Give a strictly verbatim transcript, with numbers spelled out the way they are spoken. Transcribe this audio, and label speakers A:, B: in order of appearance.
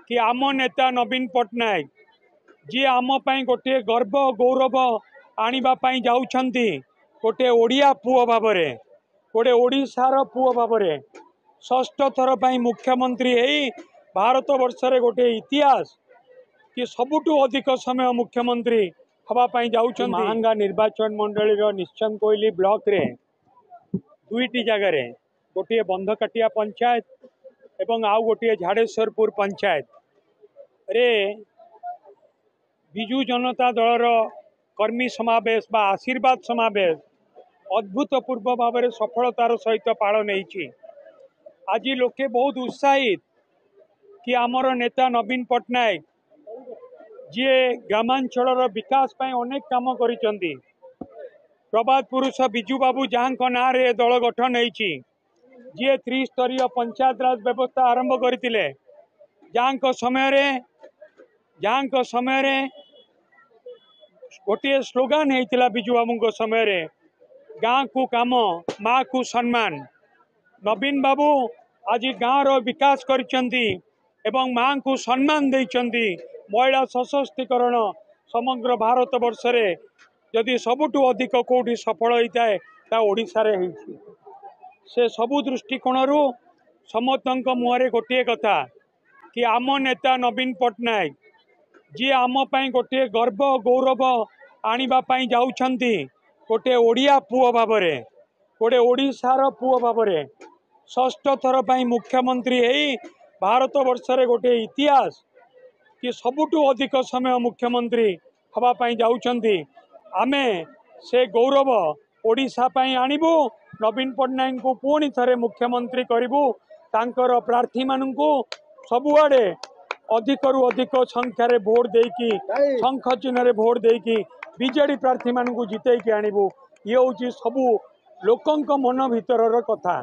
A: କି ଆମ ନେତା ନବୀନ ପଟ୍ଟନାୟକ ଯିଏ ଆମ ପାଇଁ ଗୋଟିଏ ଗର୍ବ ଗୌରବ ଆଣିବା ପାଇଁ ଯାଉଛନ୍ତି, ଗୋଟିଏ ଓଡ଼ିଆ ପୁଅ ଭାବରେ, ଗୋଟେ ଓଡ଼ିଶାର ପୁଅ ଭାବରେ ଷଷ୍ଠ ଥର ପାଇଁ ମୁଖ୍ୟମନ୍ତ୍ରୀ ହେଇ ଭାରତ ବର୍ଷରେ ଗୋଟିଏ ଇତିହାସ କି ସବୁଠୁ ଅଧିକ ସମୟ ମୁଖ୍ୟମନ୍ତ୍ରୀ ହେବା ପାଇଁ ଯାଉଛନ୍ତି। ମାହାଙ୍ଗା ନିର୍ବାଚନ ମଣ୍ଡଳୀର ନିଶ୍ଚୟକୋଇଲି ବ୍ଲକରେ ଦୁଇଟି ଜାଗାରେ, ଗୋଟିଏ ବନ୍ଧକାଟିଆ ପଞ୍ଚାୟତ ଏବଂ ଆଉ ଗୋଟିଏ ଝାଡ଼େଶ୍ୱରପୁର ପଞ୍ଚାୟତରେ ବିଜୁ ଜନତା ଦଳର କର୍ମୀ ସମାବେଶ ବା ଆଶୀର୍ବାଦ ସମାବେଶ ଅଦ୍ଭୁତପୂର୍ବ ଭାବରେ ସଫଳତାର ସହିତ ପାଳନ ହେଇଛି। ଆଜି ଲୋକେ ବହୁତ ଉତ୍ସାହିତ କି ଆମର ନେତା ନବୀନ ପଟ୍ଟନାୟକ ଯିଏ ଗ୍ରାମାଞ୍ଚଳର ବିକାଶ ପାଇଁ ଅନେକ କାମ କରିଛନ୍ତି, ପ୍ରବାଦ ପୁରୁଷ ବିଜୁ ବାବୁ ଯାହାଙ୍କ ନାଁରେ ଏ ଦଳ ଗଠନ ହେଇଛି, ଯିଏ ତ୍ରିସ୍ତରୀୟ ପଞ୍ଚାୟତରାଜ ବ୍ୟବସ୍ଥା ଆରମ୍ଭ କରିଥିଲେ, ଯାହାଙ୍କ ସମୟରେ ଯାହାଙ୍କ ସମୟରେ ଗୋଟିଏ ସ୍ଲୋଗାନ ହେଇଥିଲା ବିଜୁ ବାବୁଙ୍କ ସମୟରେ, ଗାଁକୁ କାମ ମାଆକୁ ସମ୍ମାନ। ନବୀନ ବାବୁ ଆଜି ଗାଁର ବିକାଶ କରିଛନ୍ତି ଏବଂ ମାଆଙ୍କୁ ସମ୍ମାନ ଦେଇଛନ୍ତି। ମହିଳା ସଶକ୍ତିକରଣ ସମଗ୍ର ଭାରତ ବର୍ଷରେ ଯଦି ସବୁଠୁ ଅଧିକ କେଉଁଠି ସଫଳ ହେଇଥାଏ ତା ଓଡ଼ିଶାରେ ହେଇଛି। ସେ ସବୁ ଦୃଷ୍ଟିକୋଣରୁ ସମସ୍ତଙ୍କ ମୁହଁରେ ଗୋଟିଏ କଥା କି ଆମ ନେତା ନବୀନ ପଟ୍ଟନାୟକ ଯିଏ ଆମ ପାଇଁ ଗୋଟିଏ ଗର୍ବ ଗୌରବ ଆଣିବା ପାଇଁ ଯାଉଛନ୍ତି, ଗୋଟିଏ ଓଡ଼ିଆ ପୁଅ ଭାବରେ, ଗୋଟେ ଓଡ଼ିଶାର ପୁଅ ଭାବରେ ଷଷ୍ଠ ଥର ପାଇଁ ମୁଖ୍ୟମନ୍ତ୍ରୀ ହେଇ ଭାରତ ବର୍ଷରେ ଗୋଟିଏ ଇତିହାସ କି ସବୁଠୁ ଅଧିକ ସମୟ ମୁଖ୍ୟମନ୍ତ୍ରୀ ହେବା ପାଇଁ ଯାଉଛନ୍ତି। ଆମେ ସେ ଗୌରବ ଓଡ଼ିଶା ପାଇଁ ଆଣିବୁ, ନବୀନ ପଟ୍ଟନାୟକଙ୍କୁ ପୁଣି ଥରେ ମୁଖ୍ୟମନ୍ତ୍ରୀ କରିବୁ, ତାଙ୍କର ପ୍ରାର୍ଥୀମାନଙ୍କୁ ସବୁଆଡ଼େ ଅଧିକରୁ ଅଧିକ ସଂଖ୍ୟାରେ ଭୋଟ ଦେଇକି, ଶଙ୍ଖ ଚିହ୍ନରେ ଭୋଟ ଦେଇକି ବିଜେଡ଼ି ପ୍ରାର୍ଥୀମାନଙ୍କୁ ଜିତେଇକି ଆଣିବୁ। ଇଏ ହେଉଛି ସବୁ ଲୋକଙ୍କ ମନ ଭିତରର କଥା।